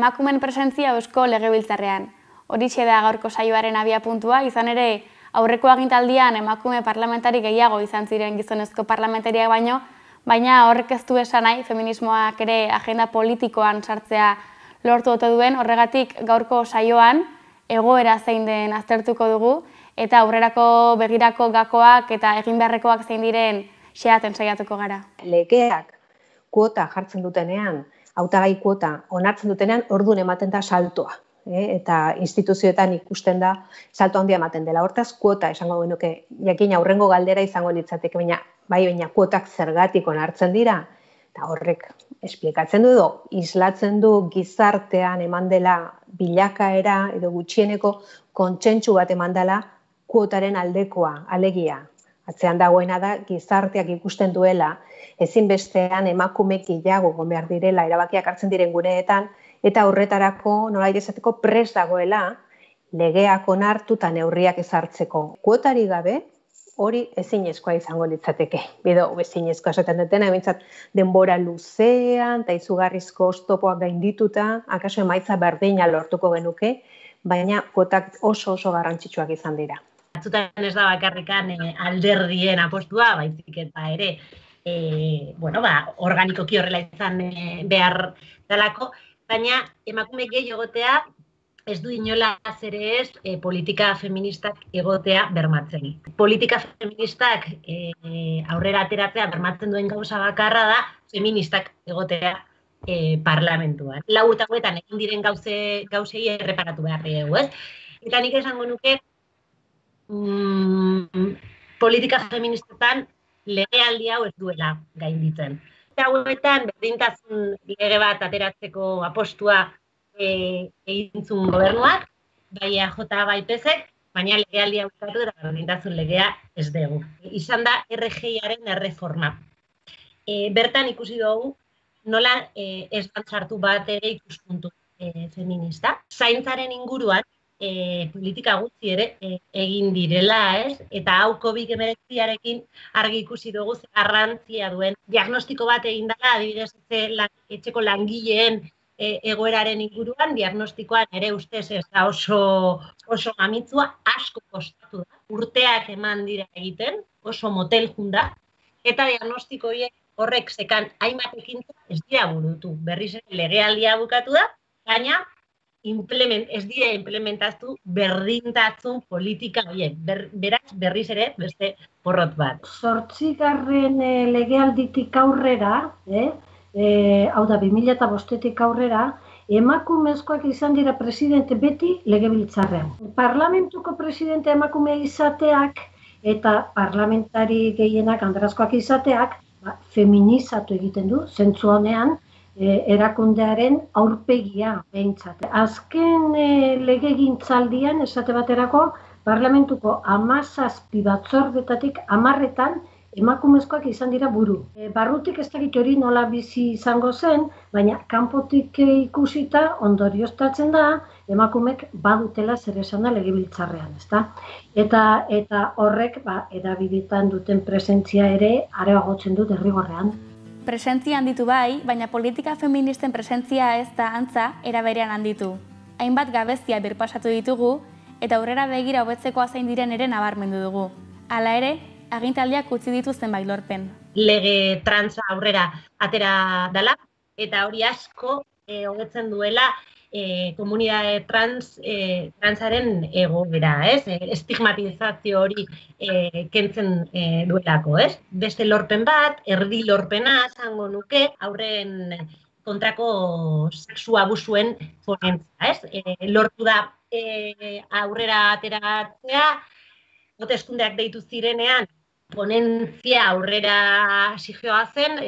emakumen presentzia Eusko Legebiltzarrean. Horixe da gaurko saioaren abiapuntua, izan ere aurreko agintaldian emakume parlamentari gehiago izan ziren gizonezko parlamentariak baino, baina horrek ez du esan nahi feminismoak ere agenda politikoan sartzea lortu ote duen, horregatik gaurko saioan egoera zein den aztertuko dugu eta aurrerako begirako gakoak eta egin beharrekoak zein diren xehaten saiatuko gara. Legeak kuota jartzen dutenean, hautagai kuota onartzen dutenean, orduan ematen da saltoa. Eta instituzioetan ikusten da salto handia ematen dela. Hortaz, kuota esango genuke, jakina aurrengo galdera izango litzateke, baina kuotak zergatik onartzen dira, eta horrek esplikatzen du, islatzen du gizartean eman dela bilakaera edo gutxieneko kontsentsu bat eman dela kuotaren aldekoa, alegia. Atzean dagoena da gizarteak ikusten duela, ezinbestean emakume gehiago egon behar direla, erabakiak hartzen diren guneetan, eta horretarako nolabait esateko prest dagoela legeak onartu eta neurriak ezartzeko. Kuotari gabe hori ezinezkoa izango litzateke. Edo ezinezkoa esaten dutena, behintzat denbora luzean eta izugarrizko oztopoak gaindituta, akaso emaitza berdina lortuko genuke, baina kuotak oso garrantzitsuak izan dira. Batzutan ez da bakarrikan alderdien apostua, baizik eta ere organikoki horrela izan behar dalako, baina emakume gehi egotea ez du inolaz ere ez politika feministak egotea bermatzen. Politika feministak aurrera ateratzea bermatzen duen gauza bakarra da feministak egotea parlamentuan. 4 urte hauetan egin diren gauzei erreparatu behar dugu, ez? Eta nik esango nuke politika feministetan legealdi hau ez duela gainditzen. Eta hauetan berdintasun lege bat ateratzeko apostua egin zuen gobernuak, bai EAJ bai PSek, baina legealdia bukatu eta berdintasun legea ez dugu. Izan da RGIaren erreforma. Bertan ikusi dugu nola ez sartu bat ere ikuspuntu feminista. Zaintzaren inguruan politika gutxi ere egin direla, ez? Eta hau COVID-19arekin argi ikusi dugu ze garrantzia duen diagnostiko bat egin dela, adibidez etxeko langileen egoeraren inguruan, diagnostikoan ere ustez ez da oso amitsua, asko kostatu da. Urteak eman dira egiten, oso motel junda, eta diagnostiko horrek zekan hainbat ekintza ez dira burutu. Berriz legealdia bukatu da, baina ez dira implementatu berdintasun politika horiek. Beraz, berriz ere, beste porrot bat. 8. legealditik aurrera, hau da 2005-tik aurrera, emakumezkoak izan dira presidente beti legebiltzarrean. Parlamentuko presidente emakume izateak eta parlamentari gehienak andrazkoak izateak feminizatu egiten du, zentzu honean, erakundearen aurpegia behintzat. Azken legegintzaldian, esate baterako, parlamentuko 17 batzordetatik 10etan emakumezkoak izan dira buru. Barrutik ez dakit hori nola bizi izango zen, baina kanpotik ikusita ondorioztatzen da emakumek badutela zer esana legebiltzarrean, ezta? Eta horrek hedabideetan duten presentzia ere areagotzen du derrigorrean. Presentzia handitu bai, baina politika feministen presentzia ez da antza era berean handitu. Hainbat gabezia birpasatu ditugu eta aurrera begira hobetzeko zein diren ere nabarmendu dugu. Hala ere, agintaldiak utzi ditu zenbait lorpen. Lege transa aurrera atera dela eta hori asko hobetzen duela komunitate transaren egoera, ez? Estigmatizazio hori kentzen duelako, ez? Beste lorpen bat, erdi lorpena esango nuke, aurren kontrako sexu abusuen ponentzia, ez? Lortu da aurrera ateratzea, hauteskundeak deitu zirenean, ponentzia aurrera zigioa zen,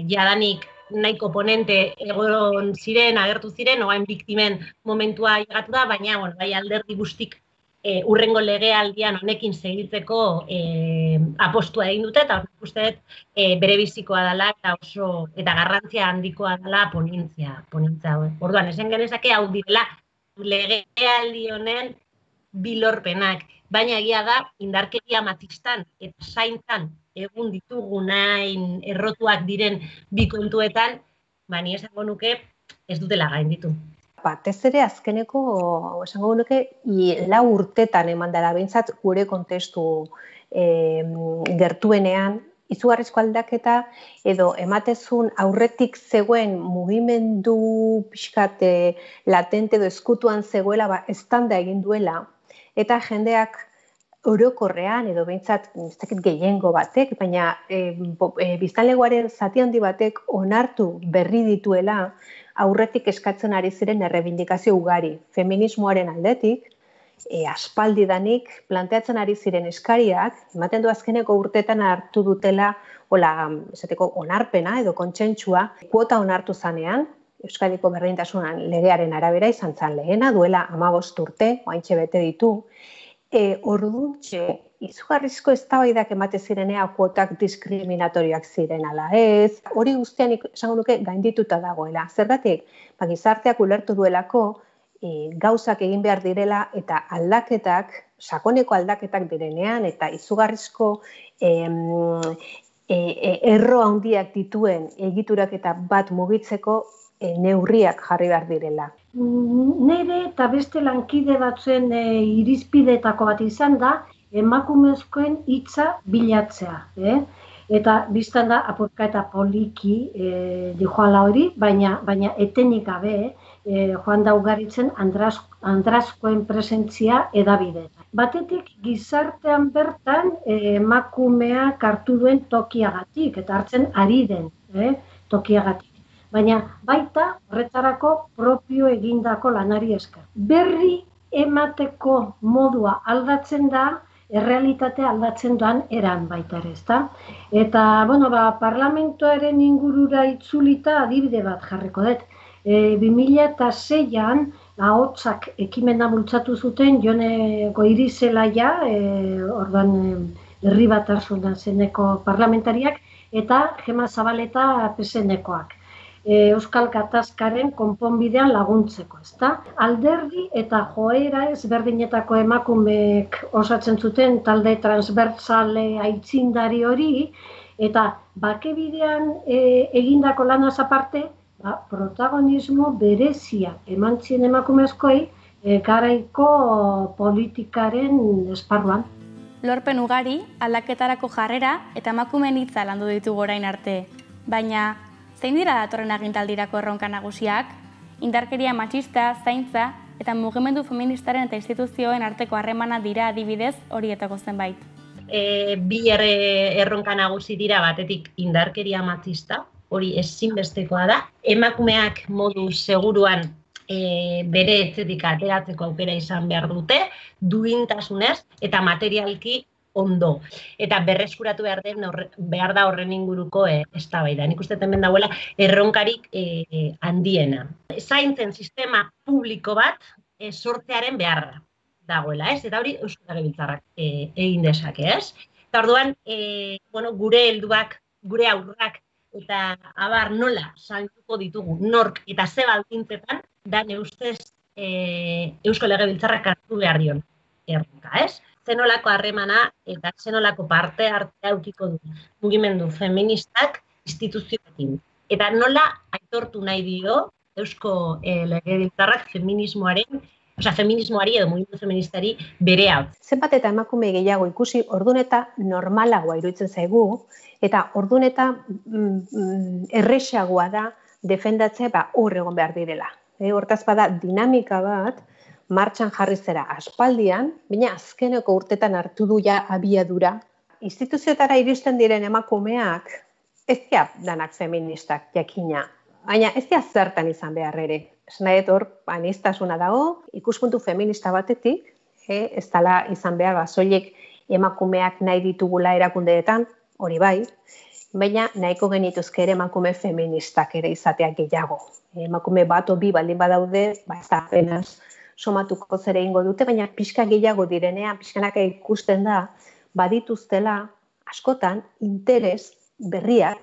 jadanik nahiko ponente egon ziren, agertu ziren, oain biktimen momentua llegatu da, baina bai alderdi guztik urrengo legealdian honekin segitzeko apostua egin dute, eta horrek uste bere bizikoa dela eta garrantzia handikoa dela ponentzia. Orduan, esan genezake hau direla legealdi honen bilorpenak, baina egia da indarkeria matxistan eta zaintzan egun ditugunain errotuak diren bi kontuetan, ni esango nuke ez dutela gainditu. batez ere azkeneko, esango nuke, 4 urtetan eman dela behintzat gure kontestu gertuenean, izugarrizko aldaketa edo ematezun aurretik zegoen mugimendu pixkat latente edo eskutuan zegoela eztanda egin duela eta jendeak orokorrean edo behintzat ez dakit gehiengo batek, baina biztanlegoaren zati handi batek onartu berri dituela aurretik eskatzen ari ziren errebindikazio ugari. Feminismoaren aldetik, aspaldidanik planteatzen ari ziren eskariak, ematen du azkeneko urtetan hartu dutela esateko onarpena edo kontsentsua, kuota onartu zanean, Euskadiko berdintasunan legearen arabera izan zan lehena, duela 15 urte, oaintxe bete ditu, orduntxe, izugarrizko eztabaidak emate zirenea kuotak diskriminatorioak ziren ala ez, hori guztian esango nuke gaindituta dagoela. Zergatik, gizarteak ulertu duelako, gauzak egin behar direla eta aldaketak, sakoneko aldaketak direnean eta izugarrizko erro handiak dituen egiturak eta bat mugitzeko neurriak jarri behar direla. Nire eta beste lankide batzuen irizpideetako bat izan da, emakumezkoen hitza bilatzea. Eta biztan da, apurka eta poliki dijoala hori, baina etenik gabe, joan da ugaritzen andrazkoen presentzia edabideetan. Batetik gizartean bertan emakumeak hartu duen tokiagatik, eta hartzen ari den tokiagatik. Baina baita horretarako propio egindako lanari esker. Berri emateko modua aldatzen da, errealitatea aldatzen doan eran baita ere, ezta? Eta, parlamentoaren ingurura itzulita adibide bat jarriko dut. 2006an ahotsak ekimena bultzatu zuten Jone Goirizelaia, orduan herri batasunan zeneko parlamentariak, eta Gema Zabaleta PSNekoak. Euskal Gatazkaren konponbidean laguntzeko, ezta? Alderdi eta joera ezberdinetako emakumeek osatzen zuten talde transbertsale aitzindari hori, eta bakebidean egindako lanaz aparte, protagonismo berezia eman zien emakumezkoei garaiko politikaren esparruan. Lorpen ugari, aldaketarako jarrera eta emakumeen hitza landu ditugu orain arte. Baina, zein dira datorren agintaldirako erronka nagusiak? Indarkeria matxista, zaintza eta mugimendu feministaren eta instituzioen arteko harremana dira adibidez horietako zenbait. Bi erronka nagusi dira batetik indarkeria matxista, hori ezinbestekoa da. Emakumeak modu seguruan bere etxetik ateratzeko aukera izan behar dute, duintasunez eta materialki ondo. Eta berreskuratu behar da horren inguruko eztabaida. Nik uste hemen dagoela erronkarik handiena. Zaintzen sistema publiko bat sortzearen beharra dagoela, ez? Eta hori Eusko Legebiltzarrak egin dezake, ez? Eta orduan, gure helduak, gure haurrak eta abar nola zainduko ditugu nork eta ze baldintzetan da ustez Eusko Legebiltzarrak hartu behar dion erronka, ez? Zenolako harremana eta zenolako parte hartzea aukiko du mugimendu feministak instituzioekin. Eta nola aitortu nahi dio Eusko Legebiltzarrak feminismoari edo mugimendu feministari bere hau. Zenbat eta emakume gehiago ikusi orduneta normalagoa iruditzen zaigu, eta orduneta erresagoa da defendatzea hor egon behar direla. Hortaz bada dinamika bat martxan jarri zera aspaldian, baina azkeneko urtetan hartu du ja abiadura. Instituzioetara iristen diren emakumeak ez dira danak feministak jakina, baina ez dira zertan izan behar ere. Esnaet hor, aniztasuna dago, ikuspuntu feminista batetik, ez dela izan behar soilik emakumeak nahi ditugula erakundeetan, hori bai, baina nahiko genituzke ere emakume feministak ere izateak gehiago. Emakume bat o bi baldin badaude, ez da apenas somatuko zere ingo dute, baina pixka gehiago direnean, pixkanaka ikusten da, badituztela askotan interes berriak,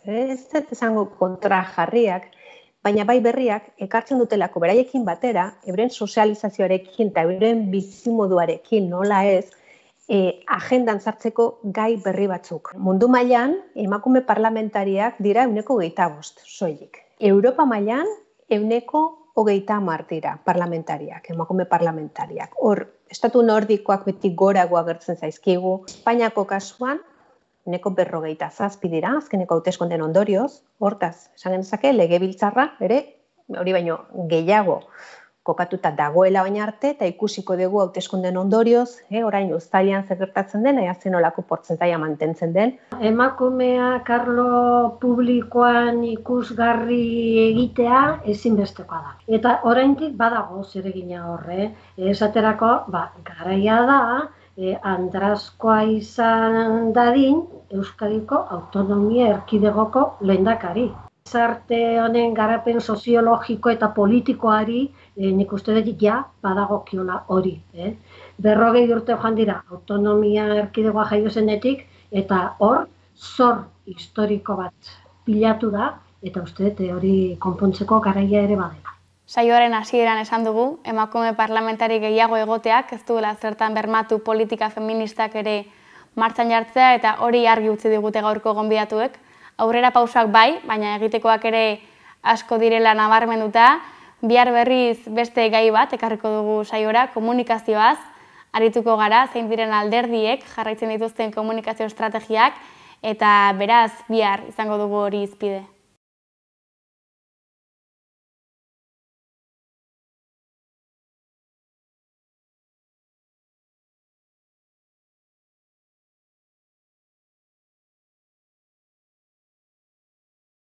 ez esango kontra jarriak, baina bai berriak ekartzen dutelako beraiekin batera, euren sozializazioarekin eta euren bizimoduarekin nola ez, agendan sartzeko gai berri batzuk. Mundu mailan emakume parlamentariak dira 25% soilik. Europa mailan 100 30 dira parlamentariak, emakume parlamentariak. Hor, estatu nordikoak beti gorago agertzen zaizkigu. Espainiako kasuan, neko 57 dira, azkeneko hauteskundeen ondorioz. Hortaz, esan genezake, legebiltzarra, ere, hori baino gehiago kokatuta dagoela baina arte, eta ikusiko dugu hauteskundeen ondorioz, orain uztailean zer gertatzen den, ea zenolako portzentaia mantentzen den. Emakumea karlo publikoan ikusgarri egitea ezinbestekoa da. Eta oraindik badago zeregina horre. Esaterako, garaia da, andrazkoa izan dadin Euskadiko autonomia erkidegoko lehendakari. Gizarte honen garapen soziologiko eta politikoari nik uste dut badagokiola hori. 40 urte joan dira autonomia erkidegoa jaio zenetik eta hor zor historiko bat pilatu da eta uste dut hori konpontzeko garaia ere badela. Saioaren hasieran esan dugu, emakume parlamentari gehiago egoteak ez duela zertan bermatu politika feministak ere martxan jartzea eta hori argi utzi digute gaurko gonbidatuek. Aurrera pausak bai, baina egitekoak ere asko direla nabarmenduta, bihar berriz beste gai bat ekarriko dugu saiora, komunikazioaz, arituko gara, zein diren alderdiek jarraitzen dituzten komunikazio estrategiak, eta beraz bihar izango dugu hori hizpide.